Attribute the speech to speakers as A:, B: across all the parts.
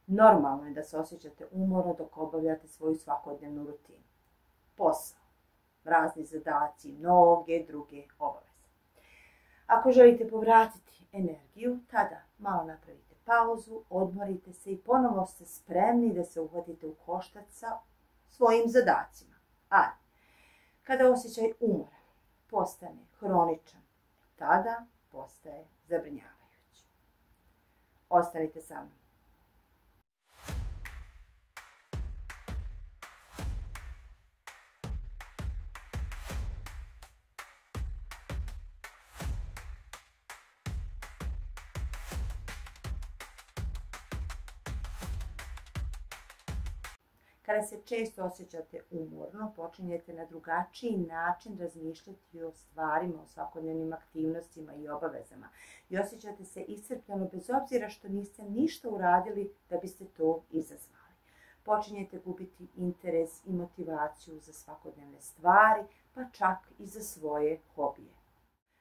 A: Normalno je da se osjećate umorno dok obavljate svoju svakodnevnu rutinu. Posao, razni zadaci, mnoge druge obaveze. Ako želite povratiti energiju, tada malo napravite pauzu, odmorite se i ponovo ste spremni da se uhvatite u koštac sa svojim zadacima. Ali, kada osjećaj umora postane hroničan, tada postaje zabrinjavajući. Ostanite sa mnom. Kada se često osjećate umorno, počinjete na drugačiji način razmišljati o stvarima, o svakodnevnim aktivnostima i obavezama. I osjećate se iscrpljeno bez obzira što niste ništa uradili da biste to izazvali. Počinjete gubiti interes i motivaciju za svakodnevne stvari, pa čak i za svoje hobije.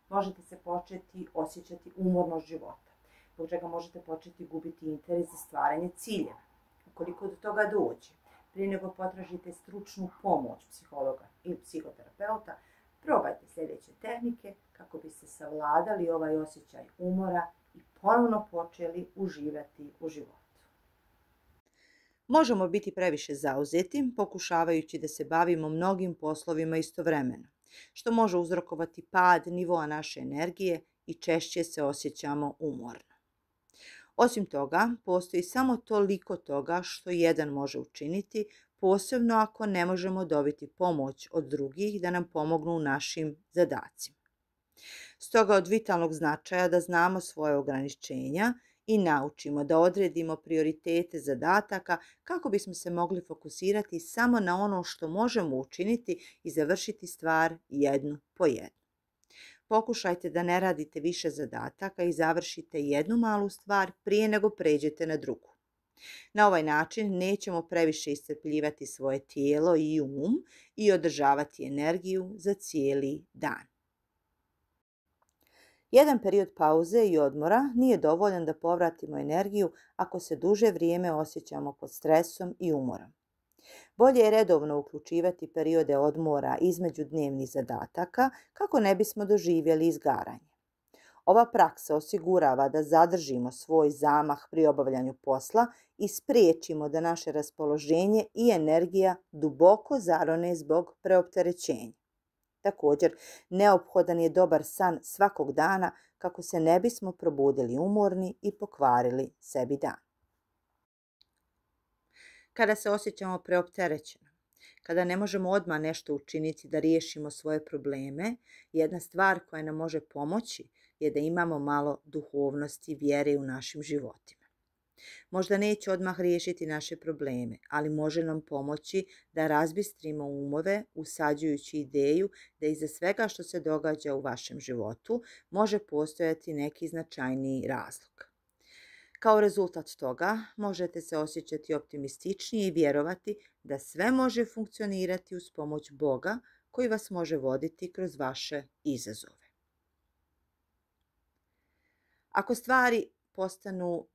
A: Možete se početi osjećati umornost života, zbog čega možete početi gubiti interes za stvaranje ciljeva. Ukoliko do toga dođe, prije nego potražite stručnu pomoć psihologa ili psihoterapeuta, probajte sljedeće tehnike kako biste savladali ovaj osjećaj umora i ponovno počeli uživati u životu. Možemo biti previše zauzeti, pokušavajući da se bavimo mnogim poslovima istovremeno, što može uzrokovati pad nivoa naše energije i češće se osjećamo umorno. Osim toga, postoji samo toliko toga što jedan može učiniti, posebno ako ne možemo dobiti pomoć od drugih da nam pomognu u našim zadacima. Stoga od vitalnog značaja da znamo svoje ograničenja i naučimo da odredimo prioritete zadataka kako bismo se mogli fokusirati samo na ono što možemo učiniti i završiti stvar jednu po jednu. Pokušajte da ne radite više zadataka i završite jednu malu stvar prije nego pređete na drugu. Na ovaj način nećemo previše iscrpljivati svoje tijelo i i održavati energiju za cijeli dan. Jedan period pauze i odmora nije dovoljan da povratimo energiju ako se duže vrijeme osjećamo pod stresom i umorom. Bolje je redovno uključivati periode odmora između dnevnih zadataka kako ne bismo doživjeli izgaranje. Ova praksa osigurava da zadržimo svoj zamah pri obavljanju posla i spriječimo da naše raspoloženje i energija duboko zarone zbog preopterećenja. Također, neophodan je dobar san svakog dana kako se ne bismo probudili umorni i pokvarili sebi dan. Kada se osjećamo preopterećeno, kada ne možemo odmah nešto učiniti da riješimo svoje probleme, jedna stvar koja nam može pomoći je da imamo malo duhovnosti i vjere u našim životima. Možda neće odmah riješiti naše probleme, ali može nam pomoći da razbistrimo umove usađujući ideju da iza svega što se događa u vašem životu može postojati neki značajniji razlog. Kao rezultat toga možete se osjećati optimističnije i vjerovati da sve može funkcionirati uz pomoć Boga koji vas može voditi kroz vaše izazove. Ako stvari postanu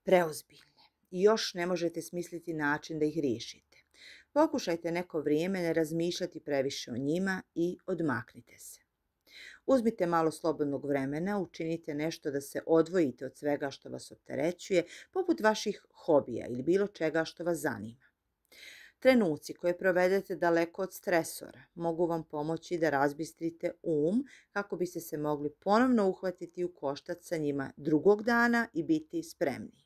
A: preozbiljne i još ne možete smisliti način da ih riješite, pokušajte neko vrijeme ne razmišljati previše o njima i odmaknite se. Uzmite malo slobodnog vremena, učinite nešto da se odvojite od svega što vas opterećuje, poput vaših hobija ili bilo čega što vas zanima. Trenuci koje provedete daleko od stresora mogu vam pomoći da razbistrite kako biste se mogli ponovno uhvatiti u koštac sa njima drugog dana i biti spremni.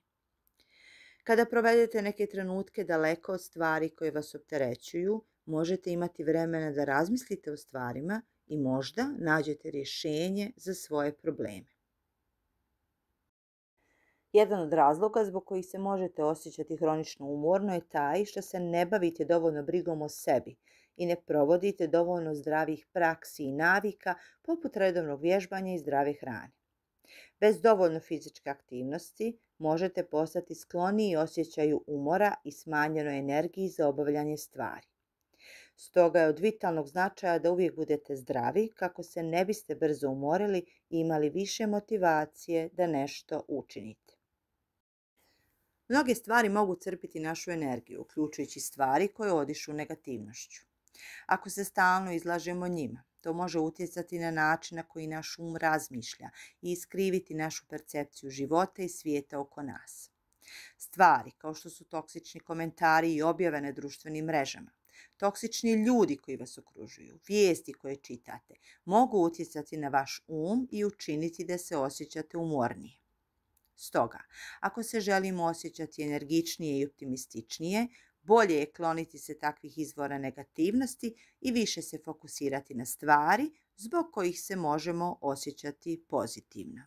A: Kada provedete neke trenutke daleko od stvari koje vas opterećuju, možete imati vremena da razmislite o stvarima i možda nađete rješenje za svoje probleme. Jedan od razloga zbog kojih se možete osjećati hronično umorno je taj što se ne bavite dovoljno brigom o sebi i ne provodite dovoljno zdravih praksi i navika poput redovnog vježbanja i zdrave hrane. Bez dovoljno fizičke aktivnosti možete postati skloniji osjećaju umora i smanjenoj energiji za obavljanje stvari. Stoga je od vitalnog značaja da uvijek budete zdravi kako se ne biste brzo umorili i imali više motivacije da nešto učinite. Mnoge stvari mogu crpiti našu energiju, uključujući stvari koje odišu negativnošću. Ako se stalno izlažemo njima, to može utjecati na način na koji naš um razmišlja i iskriviti našu percepciju života i svijeta oko nas. Stvari kao što su toksični komentari i objave na društvenim mrežama, toksični ljudi koji vas okružuju, vijesti koje čitate, mogu utjecati na vaš um i učiniti da se osjećate umornije. Stoga, ako se želimo osjećati energičnije i optimističnije, bolje je kloniti se takvih izvora negativnosti i više se fokusirati na stvari zbog kojih se možemo osjećati pozitivno.